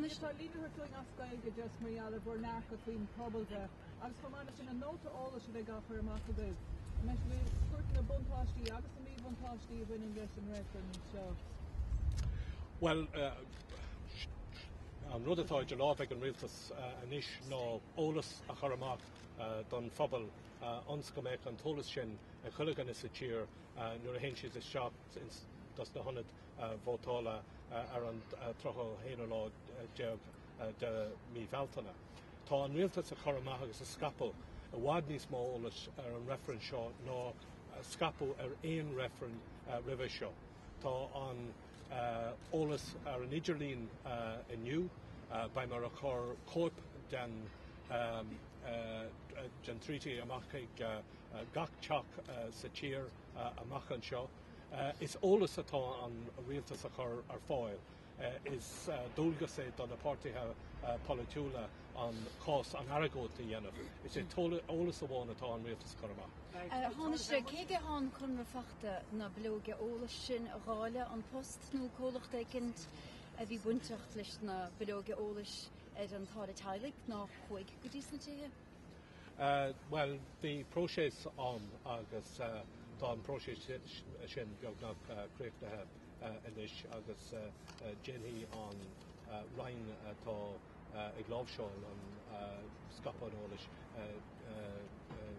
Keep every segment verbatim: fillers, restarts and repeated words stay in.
Tánaiste. Tá líne chugainn as Gaeilge just mar gheall ar bhur ndearcadh faoin pobalbhreith agus chomh maith leis sin an nóta eolais a bheidh á chur amach agaibh. An mbeidh sibh na buntáistí agus na míbhuntáistí a bhaineann leis an reifreann seo. Well uh, an rud atá idir lámha ag an rialtas uh, anois ná eolas a chur amach uh, don phobal uh, ionas go mbeidh an t-eolas sin ag chuile dhuine sa tír uh, nuair a théann siad isteach dos na hionaid uh, vótála uh, ar an uh, tríocha haon lá déag uh, de mí Bhealtaine. Tá an rialtas ag cur amach agus ag scaipeadh i bhfad níos mó eolais ar an reifreann seo ná scaipeadh ar aon reifreann uh, roimhe seo. Tá an uh, eolas ar an idirlíon uh, inniu, uh, beidh muid ag cur cóip den um, uh, den treaty amach ag uh, uh, gach teach uh, sa tír uh, amach anseo. Uh, is eolas atá an rialtas a chur ar fáil. Uh, is uh, dualgas é do na páirtithe uh, polaitiúla an cás an argóint a dhéanamh. Is é eolas amháin atá an rialtas chur amach. Tánaiste cé aige an conradh faighte na bileoga eolais sin a dháileadh An Post nó comhlacht éicint a bhí bainteach leis na bileoga eolais ar an táille teaghlaigh ná chuaigh go dtí sna tithe? Uh, well, bhí próiseas ann agus uh, tá an próiseas sin beagnach uh, críochnaithe uh, anois agus uh, uh, déanfaidh an uh, roinn atá uh, ag láimhseáil an uh, scaipeadh an eolais uh, uh, uh,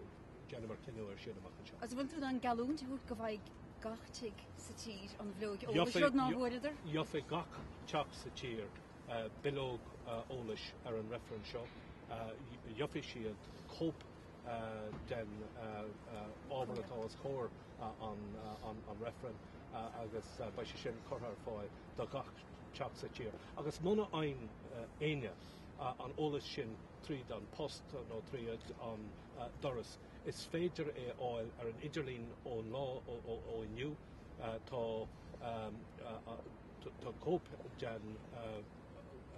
déanfar cinneadh air sin amach anseo. Agus bhfuil tú in ann geallúint a thabhairt go bhfaighidh gach tigh sa tír an bhileog eolais rud ná bhfuaireadar? Gheobhaidh gach teach sa tír uh, bileog uh, eolais ar an reifreann seo. Uh, Gheobhaidh siad cóip uh, den uh, uh, ábhar atá os comhair uh, an, uh, an, an reifreann uh, agus uh, beidh sé sin curtha ar fáil do gach teach sa tír. Agus muna bhfaigheann uh, éinne uh, an eolas sin tríd an post nó tríd an uh, doras. Is féidir é fháil ar an idirlíon ón lá ó, ó, ó inniu uh, tá um, uh, uh, tá cóip den uh,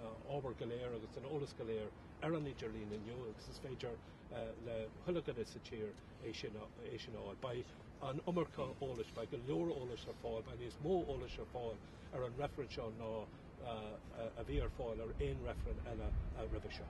uh, ábhar go léir agus an eolas go léir ar an idirlíon inniu agus is féidir uh, le chuile dhuine sa tír é sin é sin fháil. Beidh an iomarca eolais, beidh go leor eolais ar fáil, beidh níos mó eolais ar fáil ar an reifreann seo ná uh, a bhí ar fáil ar aon reifreann eile uh, roimhe seo.